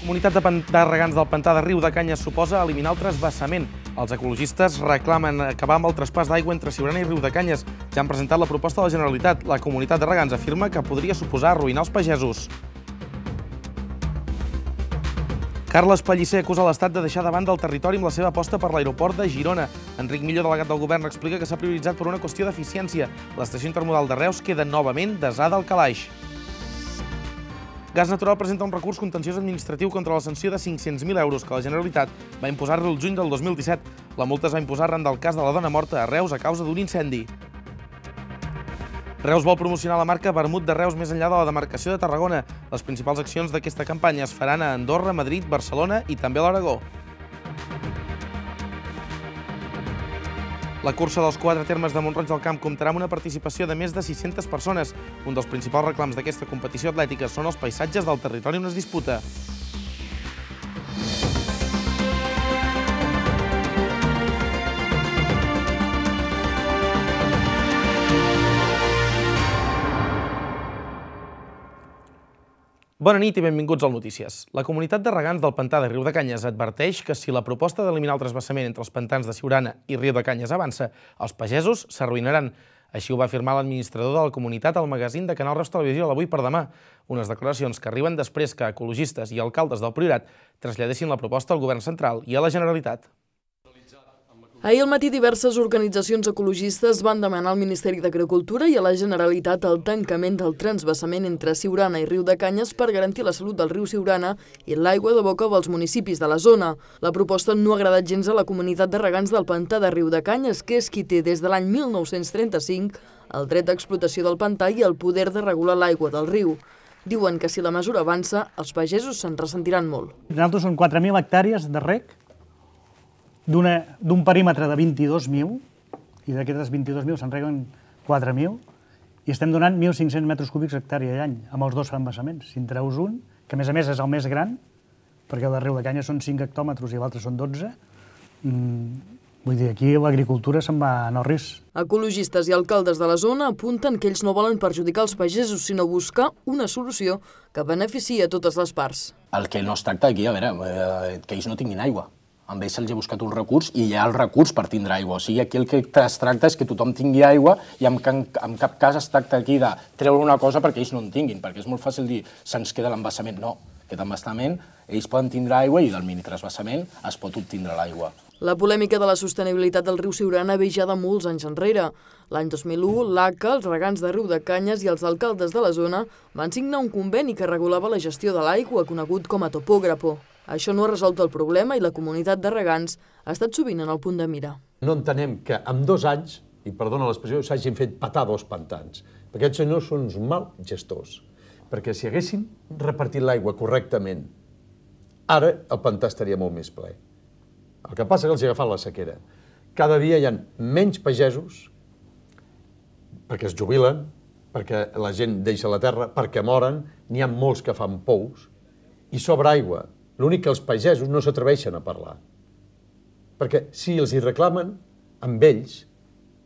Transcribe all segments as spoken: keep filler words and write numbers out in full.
Comunitat de, de regants del pantà de Riu de Canyes suposa eliminar el transvasament. Els ecologistes reclamen acabar amb el traspàs d'aigua entre Siurana i Riu de Canyes. Ja han presentat la proposta de la Generalitat. La comunitat de regants afirma que podria suposar arruïnar els pagesos. Carles Pellicer acusa l'Estat de deixar de banda el territori amb la seva aposta per l'aeroport de Girona. Enric Millo, delegat del govern, explica que s'ha prioritzat per una qüestió d'eficiència. L'estació intermodal de Reus queda novament desada al calaix. Gas Natural presenta un recurs contenciós administratiu contra la sanció de cinc-cents mil euros que la Generalitat va imposar-li el juny del dos mil disset. La multa es va imposar arran del cas de la dona morta a Reus a causa d'un incendi. Reus vol promocionar la marca Vermut de Reus més enllà de la demarcació de Tarragona. Les principals accions d'aquesta campanya es faran a Andorra, Madrid, Barcelona i també a l'Aragó. La cursa dels quatre termes de Mont-roig del Camp comptarà amb una participació de més de sis-centes persones. Un dels principals reclams d'aquesta competició atlètica són els paisatges del territori on es disputa. Bona nit i benvinguts al Notícies. La comunitat de regants del pantà de Riu de Canyes adverteix que si la proposta d'eliminar el transvasament entre els pantans de Siurana i Riu de Canyes avança, els pagesos s'arruïnaran. Així ho va afirmar l'administrador de la comunitat al magazín de Canal Reus Televisió l'Avui per Demà. Unes declaracions que arriben després que ecologistes i alcaldes del Priorat traslladessin la proposta al govern central i a la Generalitat. Ahir al matí diverses organitzacions ecologistes van demanar al Ministeri d'Agricultura i a la Generalitat el tancament del transvasament entre Siurana i Riu de Canyes per garantir la salut del riu Siurana i l'aigua de boca dels municipis de la zona. La proposta no ha agradat gens a la comunitat de regants del pantà de Riu de Canyes, que és qui té des de l'any mil nou-cents trenta-cinc el dret d'explotació del pantà i el poder de regular l'aigua del riu. Diuen que si la mesura avança, els pagesos se'n ressentiran molt. Nosaltres són quatre mil hectàrees de reg, d'un perímetre de vint-i-dos mil, i d'aquestes vint-i-dos mil se'n reguen quatre mil, i estem donant mil cinc-cents metres cúbics hectàrea a l'any, amb els dos embassaments. Si en treus un, que a més a més és el més gran, perquè el de Riu de Canyes són cinc hectòmetres i l'altre són dotze, vull dir, aquí l'agricultura se'n va en el risc. Ecologistes i alcaldes de la zona apunten que ells no volen perjudicar els pagesos, sinó buscar una solució que beneficia a totes les parts. El que no es tracta aquí, a veure, que ells no tinguin aigua. Amb ells se'ls ha buscat un recurs i hi ha el recurs per tindre aigua. O sigui, aquí el que es tracta és que tothom tingui aigua i en cap cas es tracta aquí de treure una cosa perquè ells no en tinguin, perquè és molt fàcil dir se'ns queda l'embassament. No, aquest embassament ells poden tindre aigua i del minitransvasament es pot obtindre l'aigua. La polèmica de la sostenibilitat del riu Siurana ve ja de molts anys enrere. L'any dos mil u, l'A C A, els regants de Riu de Canyes i els alcaldes de la zona van signar un conveni que regulava la gestió de l'aigua, conegut com a topògrafo. Això no ha resolt el problema i la comunitat de regants ha estat sovint en el punt de mira. No entenem que en dos anys, i perdona l'expressió, s'hagin fet petar dos pantans. Perquè aquests senyors són uns mal gestors. Perquè si haguessin repartit l'aigua correctament, ara el pantà estaria molt més ple. El que passa és que els ha agafat la sequera. Cada dia hi ha menys pagesos, perquè es jubilen, perquè la gent deixa la terra, perquè moren, n'hi ha molts que fan pous, i sobra aigua. L'únic que els pagesos no s'atreveixen a parlar. Perquè si els hi reclamen, amb ells,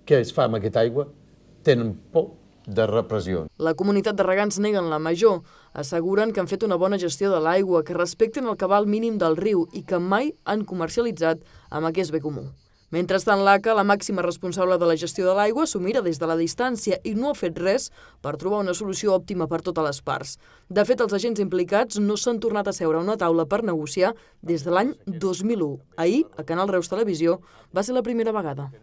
què es fa amb aquesta aigua, tenen por de repressió. La comunitat de regants neguen la major. Asseguren que han fet una bona gestió de l'aigua, que respecten el cabal mínim del riu i que mai han comercialitzat amb aquest bé comú. Mentrestant, l'A C A, la màxima responsable de la gestió de l'aigua, s'ho mira des de la distància i no ha fet res per trobar una solució òptima per totes les parts. De fet, els agents implicats no s'han tornat a seure a una taula per negociar des de l'any dos mil u. Ahir, a Canal Reus Televisió, va ser la primera vegada.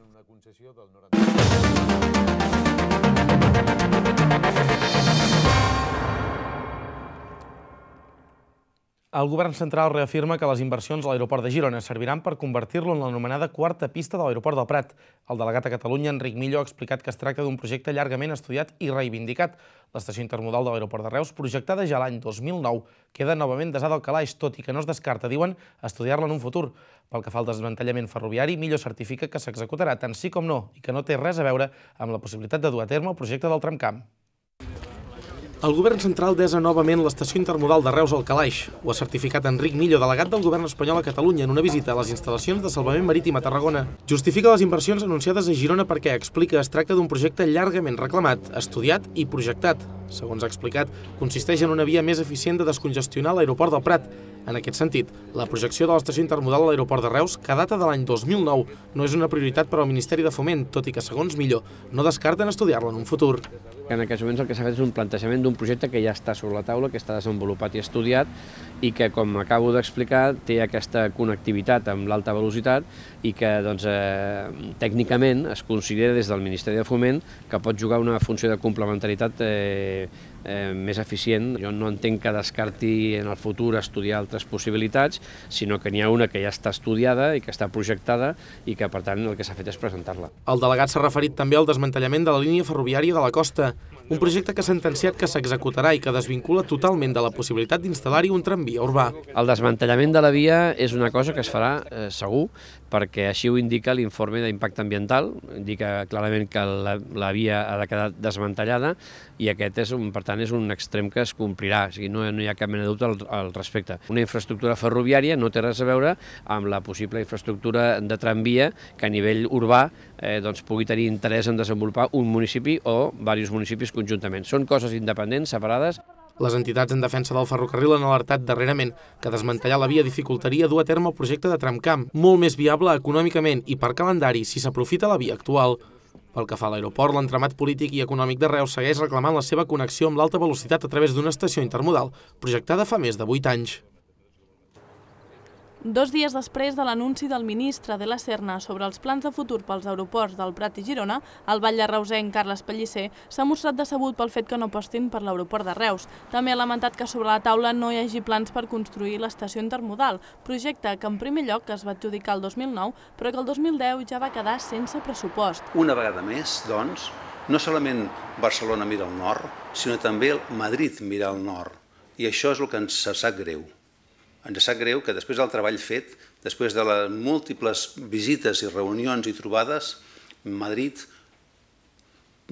El govern central reafirma que les inversions a l'aeroport de Girona serviran per convertir-lo en l'anomenada quarta pista de l'aeroport del Prat. El delegat a Catalunya, Enric Millo, ha explicat que es tracta d'un projecte llargament estudiat i reivindicat. L'estació intermodal de l'aeroport de Reus, projectada ja l'any dos mil nou, queda novament desada al calaix, tot i que no es descarta, diuen, estudiar-la en un futur. Pel que fa al desmantellament ferroviari, Millo certifica que s'executarà tant sí com no i que no té res a veure amb la possibilitat de dur a terme el projecte del tramcamp. El govern central desa novament l'estació intermodal de Reus al calaix. Ho ha certificat Enric Millo, delegat del govern espanyol a Catalunya, en una visita a les instal·lacions de salvament marítim a Tarragona. Justifica les inversions anunciades a Girona perquè explica que es tracta d'un projecte llargament reclamat, estudiat i projectat. Segons ha explicat, consisteix en una via més eficient de descongestionar l'aeroport del Prat. En aquest sentit, la projecció de l'estació intermodal a l'aeroport de Reus, que data de l'any dos mil nou, no és una prioritat per al Ministeri de Foment, tot i que, segons Millor, no descarten estudiar-la en un futur. En aquests moments el que s'ha fet és un plantejament d'un projecte que ja està sobre la taula, que està desenvolupat i estudiat i que, com acabo d'explicar, té aquesta connectivitat amb l'alta velocitat i que doncs, eh, tècnicament es considera des del Ministeri de Foment que pot jugar una funció de complementaritat eh, eh, més eficient. Jo no entenc que descarti en el futur estudiar altres possibilitats, sinó que n'hi ha una que ja està estudiada i que està projectada i que, per tant, el que s'ha fet és presentar-la. El delegat s'ha referit també al desmantellament de la línia ferroviària de la costa, un projecte que s'ha sentenciat que s'executarà i que desvincula totalment de la possibilitat d'instal·lar-hi un tramvia urbà. El desmantellament de la via és una cosa que es farà eh, segur, perquè així ho indica l'informe d'impacte ambiental, indica clarament que la, la via ha de quedar desmantellada i aquest és un, per tant, és un extrem que es complirà, o sigui, no, no hi ha cap mena de dubte al, al respecte. Una infraestructura ferroviària no té res a veure amb la possible infraestructura de tramvia que a nivell urbà eh, doncs, pugui tenir interès en desenvolupar un municipi o diversos municipis conjuntament. Són coses independents, separades. Les entitats en defensa del ferrocarril han alertat darrerament que desmantellar la via dificultaria dur a terme el projecte de tramcamp, molt més viable econòmicament i per calendari si s'aprofita la via actual. Pel que fa a l'aeroport, l'entramat polític i econòmic de Reus segueix reclamant la seva connexió amb l'alta velocitat a través d'una estació intermodal, projectada fa més de vuit anys. Dos dies després de l'anunci del ministre de la Serna sobre els plans de futur pels aeroports del Prat i Girona, el batlle-reusenc Carles Pellicer s'ha mostrat decebut pel fet que no apostin per l'aeroport de Reus. També ha lamentat que sobre la taula no hi hagi plans per construir l'estació intermodal, projecte que en primer lloc es va adjudicar el dos mil nou, però que el dos mil deu ja va quedar sense pressupost. Una vegada més, doncs, no solament Barcelona mira al nord, sinó també Madrid mira al nord. I això és el que ens sap greu. Ens sap greu que després del treball fet, després de les múltiples visites i reunions i trobades, Madrid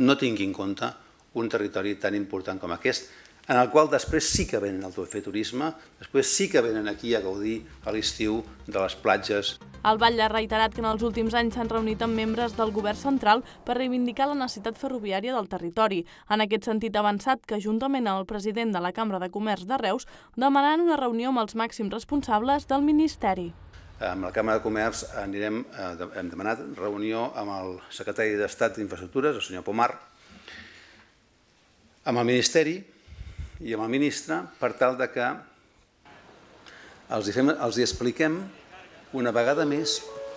no tingui en compte un territori tan important com aquest, en el qual després sí que venen al fer turisme, després sí que venen aquí a gaudir a l'estiu de les platges. El batlle ha reiterat que en els últims anys s'han reunit amb membres del govern central per reivindicar la necessitat ferroviària del territori. En aquest sentit ha avançat que, juntament amb el president de la Cambra de Comerç de Reus, demanaran una reunió amb els màxims responsables del Ministeri. Amb la Cambra de Comerç anirem, hem demanat reunió amb el secretari d'Estat d'Infraestructures, el senyor Pomar, amb el Ministeri i amb el ministre, per tal de que els hi, fem, els hi expliquem una vegada més,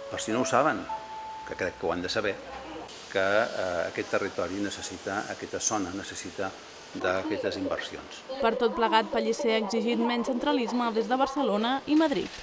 per si no ho saben, que crec que ho han de saber, que eh, aquest territori necessita, aquesta zona necessita d'aquestes inversions. Per tot plegat, Pellicer ha exigit menys centralisme des de Barcelona i Madrid.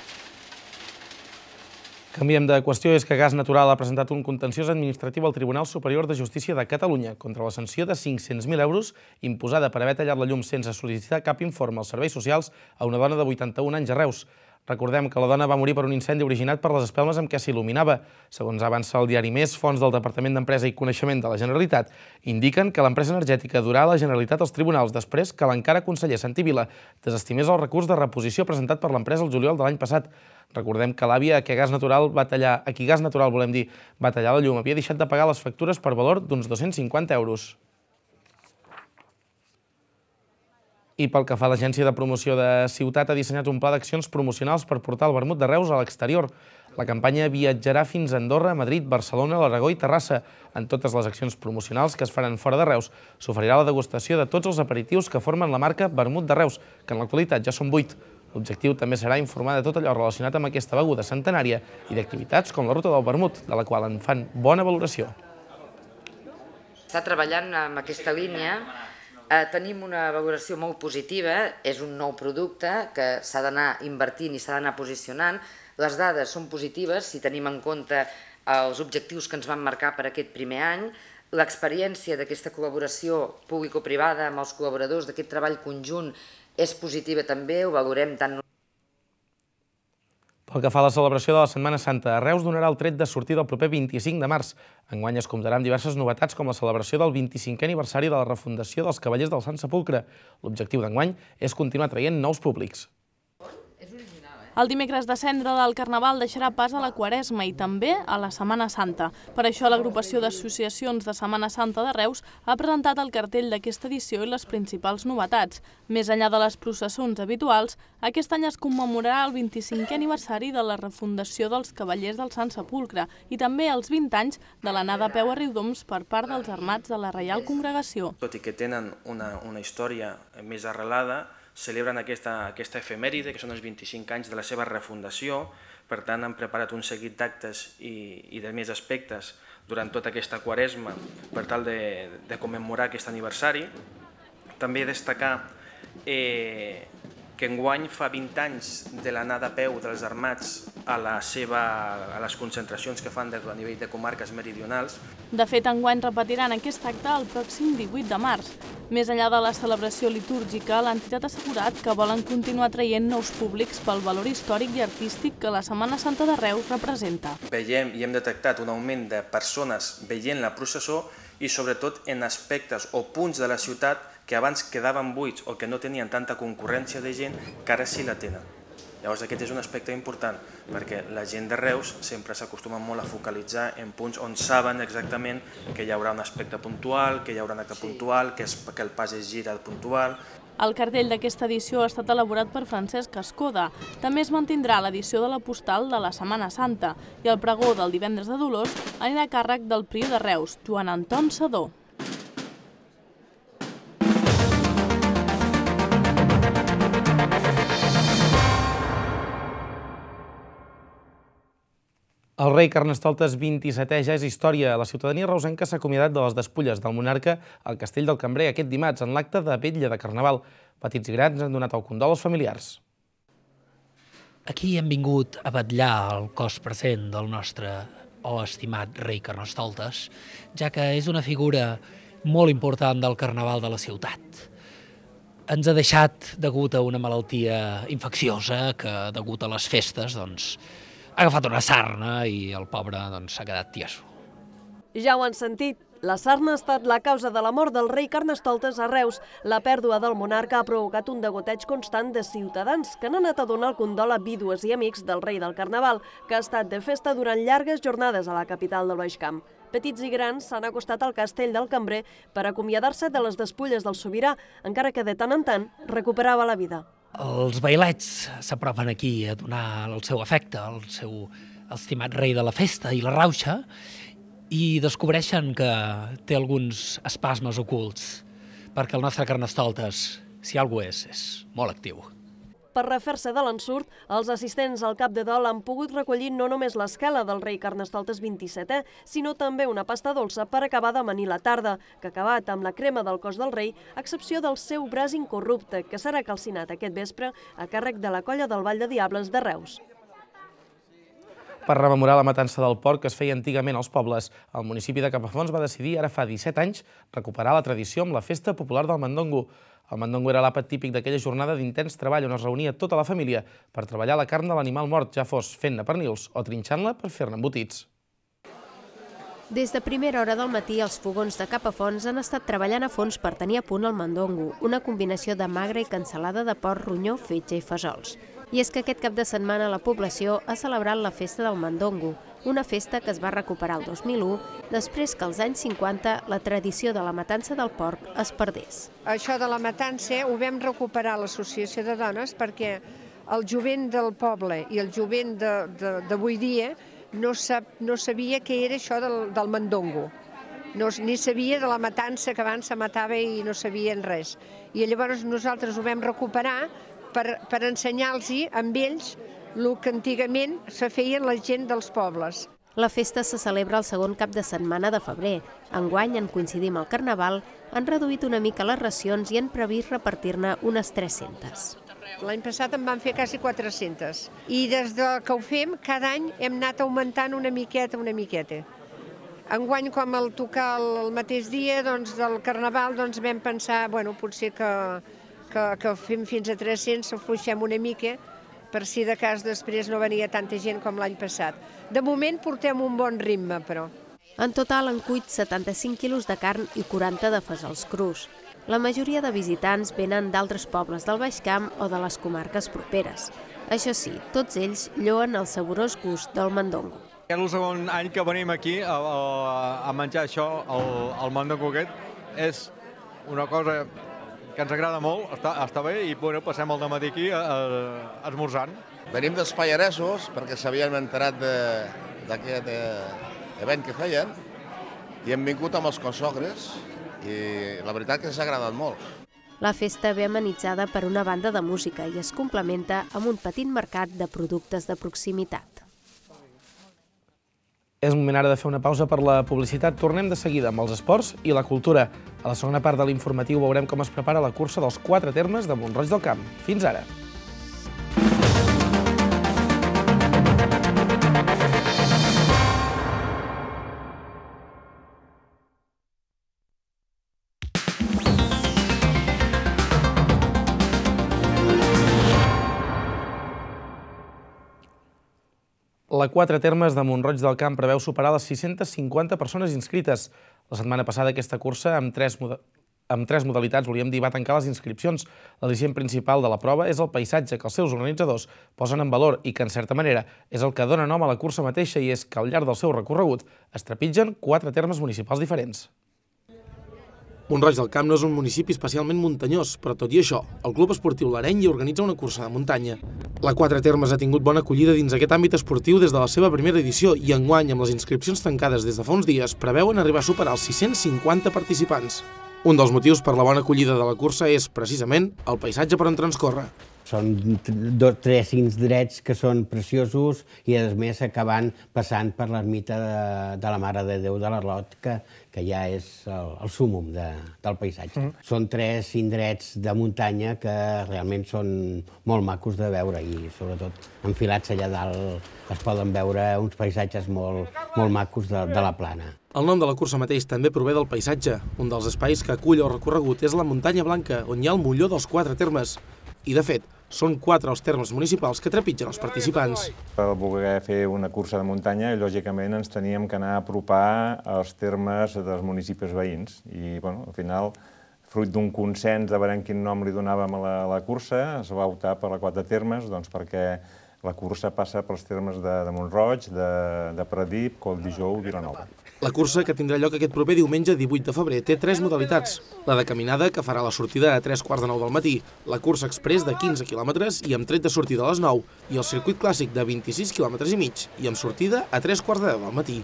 Canviem de qüestió, és que Gas Natural ha presentat un contenciós administratiu al Tribunal Superior de Justícia de Catalunya contra la sanció de cinc-cents mil euros imposada per haver tallat la llum sense sol·licitar cap informe als serveis socials a una dona de vuitanta-un anys a Reus. Recordem que la dona va morir per un incendi originat per les espelmes amb què s'il·luminava. Segons avança el diari Més, fonts del Departament d'Empresa i Coneixement de la Generalitat indiquen que l'empresa energètica durà a la Generalitat als tribunals després que l'encara conseller Santi Vila desestimés el recurs de reposició presentat per l'empresa el juliol de l'any passat. Recordem que l'àvia a qui Gas Natural va tallar, a qui Gas Natural, volem dir, va tallar la llum, havia deixat de pagar les factures per valor d'uns dos-cents cinquanta euros. I pel que fa a l'Agència de Promoció de Ciutat, ha dissenyat un pla d'accions promocionals per portar el vermut de Reus a l'exterior. La campanya viatjarà fins a Andorra, Madrid, Barcelona, l'Aragó i Terrassa. En totes les accions promocionals que es faran fora de Reus, s'oferirà la degustació de tots els aperitius que formen la marca Vermut de Reus, que en l'actualitat ja són vuit. L'objectiu també serà informar de tot allò relacionat amb aquesta beguda centenària i d'activitats com la Ruta del Vermut, de la qual en fan bona valoració. Està treballant amb aquesta línia. Eh, tenim una valoració molt positiva, és un nou producte que s'ha d'anar invertint i s'ha d'anar posicionant. Les dades són positives si tenim en compte els objectius que ens van marcar per aquest primer any. L'experiència d'aquesta col·laboració público-privada amb els col·laboradors d'aquest treball conjunt és positiva també, ho valorem tant. Pel que fa a la celebració de la Setmana Santa, a Reus donarà el tret de sortida el proper vint-i-cinc de març. Enguany es comptarà amb diverses novetats com la celebració del vint-i-cinquè aniversari de la refundació dels Cavallers del Sant Sepulcre. L'objectiu d'enguany és continuar traient nous públics. El dimecres de Cendra del Carnaval deixarà pas a la Quaresma i també a la Setmana Santa. Per això l'agrupació d'associacions de Setmana Santa de Reus ha presentat el cartell d'aquesta edició i les principals novetats. Més enllà de les processons habituals, aquest any es commemorarà el vint-i-cinquè aniversari de la refundació dels Cavallers del Sant Sepulcre i també els vint anys de l'anada a peu a Riudoms per part dels armats de la Reial Congregació. Tot i que tenen una, una història més arrelada, celebren aquesta, aquesta efemèride, que són els vint-i-cinc anys de la seva refundació. Per tant, han preparat un seguit d'actes i, i de més aspectes durant tota aquesta Quaresma per tal de, de commemorar aquest aniversari. També destacar eh, que enguany fa vint anys de l'anada a peu dels armats a, la seva, a les concentracions que fan a nivell de comarques meridionals. De fet, enguany repetiran aquest acte el pròxim divuit de març. Més enllà de la celebració litúrgica, l'entitat ha assegurat que volen continuar traient nous públics pel valor històric i artístic que la Setmana Santa de Reus representa. Veiem i hem detectat un augment de persones veient la processó i sobretot en aspectes o punts de la ciutat que abans quedaven buits o que no tenien tanta concurrència de gent, que ara sí la tenen. Llavors aquest és un aspecte important, perquè la gent de Reus sempre s'acostuma molt a focalitzar en punts on saben exactament que hi haurà un aspecte puntual, que hi haurà un acte puntual, que, és, que el pas es gira puntual. El cartell d'aquesta edició ha estat elaborat per Francesc Escoda. També es mantindrà l'edició de la postal de la Setmana Santa i el pregó del divendres de Dolors anirà a càrrec del prior de Reus, Joan Anton Sedó. El rei Carnestoltes vint-i-setè ja és història. La ciutadania reusenca s'ha acomiadat de les despulles del monarca al Castell del Cambrer aquest dimarts en l'acte de vetlla de Carnaval. Petits i grans han donat el condol als familiars. Aquí hem vingut a vetllar el cos present del nostre o estimat rei Carnestoltes, ja que és una figura molt important del Carnaval de la ciutat. Ens ha deixat degut a una malaltia infecciosa que, degut a les festes, doncs, ha agafat una sarna i el pobre s'ha quedat tieso. Ja ho han sentit. La sarna ha estat la causa de la mort del rei Carnestoltes a Reus. La pèrdua del monarca ha provocat un degoteig constant de ciutadans que han anat a donar el condol a vídues i amics del rei del Carnaval, que ha estat de festa durant llargues jornades a la capital del Baix Camp. Petits i grans s'han acostat al Castell del Cambrer per acomiadar-se de les despulles del sobirà, encara que de tant en tant recuperava la vida. Els bailets s'apropen aquí a donar el seu afecte al seu estimat rei de la festa i la rauxa i descobreixen que té alguns espasmes ocults, perquè el nostre Carnestoltes, si algú és, és molt actiu. Per refer-se de l'ensurt, els assistents al cap de dol han pogut recollir no només l'esquela del rei Carnestoltes vint-i-setè, sinó també una pasta dolça per acabar d'amanir la tarda, que ha acabat amb la crema del cos del rei, a excepció del seu braç incorrupte, que serà calcinat aquest vespre a càrrec de la colla del Ball de Diables de Reus. Per rememorar la matança del porc que es feia antigament als pobles, el municipi de Capafonts va decidir, ara fa disset anys, recuperar la tradició amb la festa popular del mandongo. El mandongo era l'àpat típic d'aquella jornada d'intens treball on es reunia tota la família per treballar la carn de l'animal mort, ja fos fent-ne pernils o trinxant-la per fer-ne embotits. Des de primera hora del matí, els fogons de Capafonts han estat treballant a fons per tenir a punt el mandongo, una combinació de magre i cansalada de porc, ronyó, fetge i fesols. I és que aquest cap de setmana la població ha celebrat la festa del mandongo, una festa que es va recuperar el dos mil u, després que als anys cinquanta la tradició de la matança del porc es perdés. Això de la matança ho vam recuperar a l'Associació de Dones perquè el jovent del poble i el jovent d'avui dia no, sap, no sabia què era això del, del mandongo. No, ni sabia de la matança, que abans se matava i no sabien res. I llavors nosaltres ho vam recuperar per, per ensenyar-los amb ells el que antigament se feien la gent dels pobles. La festa se celebra el segon cap de setmana de febrer. Enguany, en coincidir amb el Carnaval, han reduït una mica les racions i han previst repartir-ne unes tres-centes. L'any passat en van fer quasi quatre-centes. I des que ho fem, cada any hem anat augmentant una miqueta, una miqueta. Enguany, com el tocar el mateix dia doncs, del Carnaval, doncs vam pensar, bueno, potser que, que, que fem fins a tres-cents, s'afluixem una mica, per si de cas després no venia tanta gent com l'any passat. De moment portem un bon ritme, però. En total han cuit setanta-cinc quilos de carn i quaranta de fesols crus. La majoria de visitants venen d'altres pobles del Baix Camp o de les comarques properes. Això sí, tots ells lloen el saborós gust del mondongo. És el segon any que venim aquí a, a, a menjar això, el, el mondongo aquest. És una cosa que ens agrada molt, està, està bé, i bueno, passem el dematí aquí a, a, esmorzant. Venim dels Pallaresos perquè s'havien enterat d'aquest event que feien i hem vingut amb els consogres i la veritat que ens ha agradat molt. La festa ve amenitzada per una banda de música i es complementa amb un petit mercat de productes de proximitat. És moment ara de fer una pausa per la publicitat. Tornem de seguida amb els esports i la cultura. A la segona part de l'informatiu veurem com es prepara la cursa dels quatre termes de Mont-roig del Camp. Fins ara. La quatre termes de Mont-roig del Camp preveu superar les sis-centes cinquanta persones inscrites. La setmana passada aquesta cursa, amb tres, amb tres modalitats, volíem dir, va tancar les inscripcions. L'al·licient principal de la prova és el paisatge que els seus organitzadors posen en valor i que, en certa manera, és el que dona nom a la cursa mateixa, i és que al llarg del seu recorregut es trepitgen quatre termes municipals diferents. Mont-roig del Camp no és un municipi especialment muntanyós, però tot i això, el Club Esportiu L'Areny hi organitza una cursa de muntanya. La Quatre Termes ha tingut bona acollida dins aquest àmbit esportiu des de la seva primera edició i enguany, amb les inscripcions tancades des de fa uns dies, preveuen arribar a superar els sis-cents cinquanta participants. Un dels motius per la bona acollida de la cursa és, precisament, el paisatge per on transcorre. Són dos, tres indrets que són preciosos i, a més, acabant passant per l'ermita de, de la Mare de Déu de l'Arlot, que, que ja és el, el súmum de, del paisatge. Mm. Són tres indrets de muntanya que realment són molt macos de veure i, sobretot, enfilats allà dalt es poden veure uns paisatges molt, molt macos de, de la plana. El nom de la cursa mateix també prové del paisatge. Un dels espais que acull el recorregut és la Muntanya Blanca, on hi ha el molló dels quatre termes. I, de fet, són quatre els termes municipals que trepitgen els participants. Per voler fer una cursa de muntanya, lògicament ens teníem que anar a apropar als termes dels municipis veïns. I, bueno, al final, fruit d'un consens de veure quin nom li donàvem a la, a la cursa, es va optar per la quatre termes, doncs perquè la cursa passa pels termes de, de Mont-roig, de, de Pradip, Colldijou i Vilanova. La cursa, que tindrà lloc aquest proper diumenge divuit de febrer, té tres modalitats. La de caminada, que farà la sortida a tres quarts de nou del matí, la cursa express de quinze quilòmetres i amb tret de sortida a les nou, i el circuit clàssic de vint-i-sis quilòmetres i mig i amb sortida a tres quarts de deu del matí.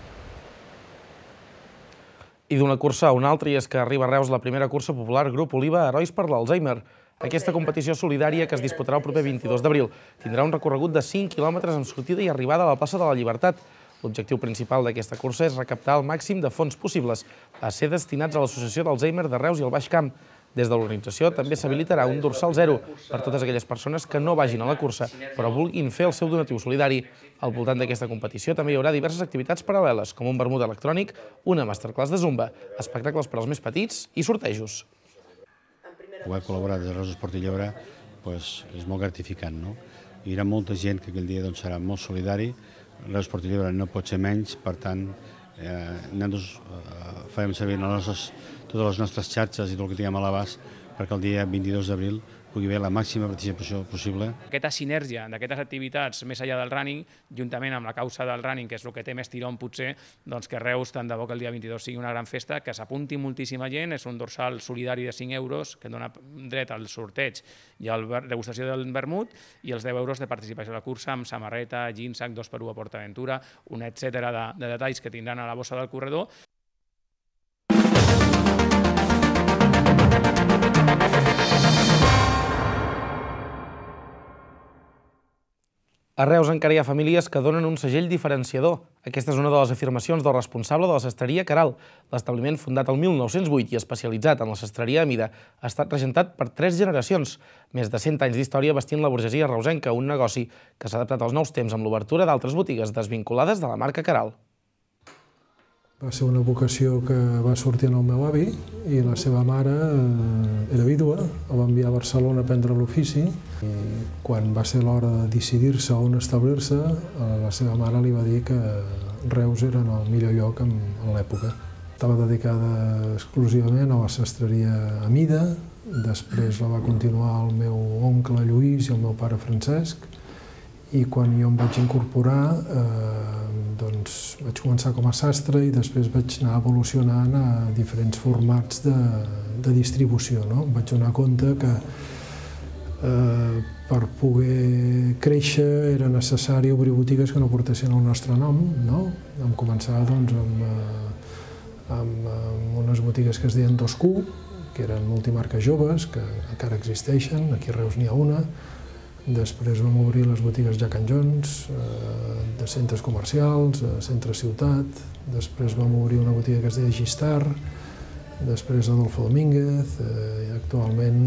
I d'una cursa a una altra, i és que arriba a Reus la primera cursa popular Grup Oliva Herois per l'Alzheimer. Aquesta competició solidària, que es disputarà el proper vint-i-dos d'abril, tindrà un recorregut de cinc quilòmetres amb sortida i arribada a la plaça de la Llibertat. L'objectiu principal d'aquesta cursa és recaptar el màxim de fons possibles a ser destinats a l'Associació d'Alzheimer de Reus i el Baix Camp. Des de l'organització també s'habilitarà un dorsal zero per totes aquelles persones que no vagin a la cursa, però vulguin fer el seu donatiu solidari. Al voltant d'aquesta competició també hi haurà diverses activitats paral·leles, com un vermut electrònic, una masterclass de zumba, espectacles per als més petits i sortejos. Poder col·laborar des de Reus Esport i Lleure és molt gratificant. Hi haurà molta gent que aquell dia serà molt solidari. Reus Esport i Lleure no pot ser menys, per tant, nosaltres farem servir totes les nostres xarxes i tot el que tinguem a l'abast perquè el dia vint-i-dos d'abril pugui haver la màxima participació possible. Aquesta sinergia d'aquestes activitats més enllà del running, juntament amb la causa del running, que és el que té més tirón potser, doncs que Reus, tant de bo que el dia vint-i-dos sigui una gran festa, que s'apunti moltíssima gent, és un dorsal solidari de cinc euros que dona dret al sorteig i a la degustació del vermut, i els deu euros de participació a la cursa amb samarreta, jeans, sac, dos per u a PortAventura, un etcètera de, de detalls que tindran a la bossa del corredor. A Reus encara hi ha famílies que donen un segell diferenciador. Aquesta és una de les afirmacions del responsable de la sastreria Caral. L'establiment, fundat el mil nou-cents vuit i especialitzat en la sastreria a mida, ha estat regentat per tres generacions. Més de cent anys d'història vestint la burgesia reusenca, un negoci que s'ha adaptat als nous temps amb l'obertura d'altres botigues desvinculades de la marca Caral. Va ser una vocació que va sortir en el meu avi i la seva mare era vídua, el va enviar a Barcelona a aprendre l'ofici i quan va ser l'hora de decidir-se on establir-se, la seva mare li va dir que Reus era el millor lloc en l'època. Estava dedicada exclusivament a la sastreria a mida, després la va continuar el meu oncle Lluís i el meu pare Francesc i quan jo em vaig incorporar doncs vaig començar com a sastre i després vaig anar evolucionant a diferents formats de distribució. Em vaig donar compte que per poder créixer era necessari obrir botigues que no portessin el nostre nom. Vam començar amb unes botigues que es deien dos Q, que eren multimarques joves, que encara existeixen, aquí a Reus n'hi ha una. Després vam obrir les botigues Jack and Jones, de centres comercials, a centre ciutat. Després vam obrir una botiga que es deia Gistar, després Adolfo Domínguez, i actualment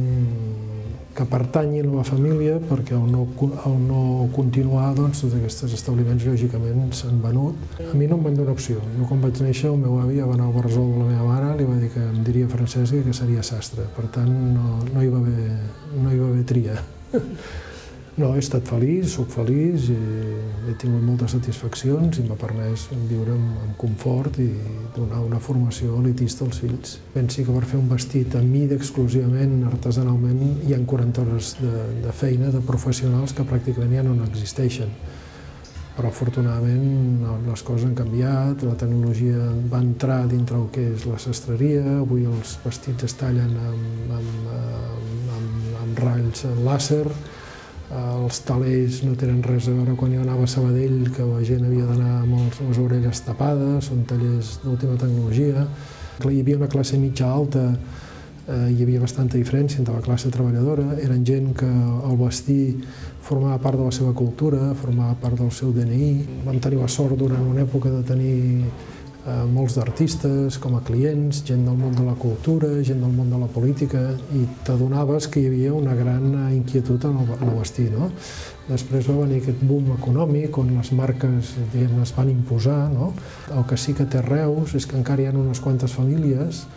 que pertanyi a la família, perquè al no continuar, tots aquests establiments lògicament s'han venut. A mi no em van donar opció. Jo quan vaig néixer, el meu avi ja va anar al Barresol de la meva mare, li va dir que em diria Francesc i que seria sastre. Per tant, no hi va haver tria. No, he estat feliç, soc feliç, he tingut moltes satisfaccions i m'ha permès viure amb confort i donar una formació elitista als fills. Pensi que per fer un vestit a mida exclusivament, artesanalment, hi ha quaranta hores de feina de professionals que pràcticament ja no existeixen. Però afortunadament les coses han canviat, la tecnologia va entrar dintre el que és la sastreria, avui els vestits es tallen amb ratlls làser, els talers no tenen res a veure quan jo anava a Sabadell, que la gent havia d'anar amb les orelles tapades, són tallers d'última tecnologia. Hi havia una classe mitja-alta, hi havia bastanta diferència entre la classe treballadora, eren gent que el vestir formava part de la seva cultura, formava part del seu D N I. Vam tenir la sort durant una època de tenir molts d'artistes com a clients, gent del món de la cultura, gent del món de la política, i t'adonaves que hi havia una gran inquietud en el vestir. Després va venir aquest boom econòmic on les marques es van imposar. El que sí que té Reus és que encara hi ha unes quantes famílies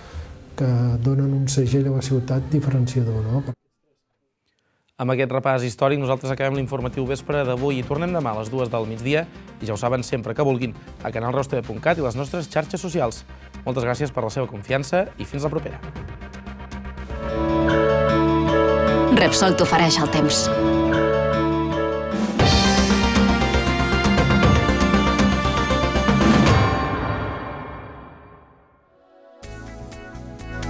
que donen un segell a la ciutat diferenciador. Amb aquest repàs històric nosaltres acabem l'informatiu vespre d'avui i tornem demà a les dues del migdia i ja ho saben sempre que vulguin a canal reus tv punt cat i les nostres xarxes socials. Moltes gràcies per la seva confiança i fins la propera. Repsol t'ofereix el temps.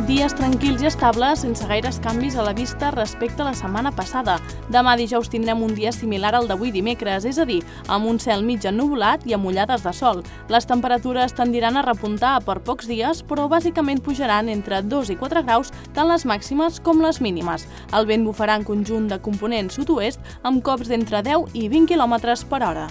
Dies tranquils i estables, sense gaires canvis a la vista respecte a la setmana passada. Demà dijous tindrem un dia similar al d'avui dimecres, és a dir, amb un cel mig ennuvolat i amb ullades de sol. Les temperatures tendiran a repuntar per pocs dies, però bàsicament pujaran entre dos i quatre graus, tant les màximes com les mínimes. El vent bufarà en conjunt de component sud-oest amb cops d'entre deu i vint quilòmetres per hora.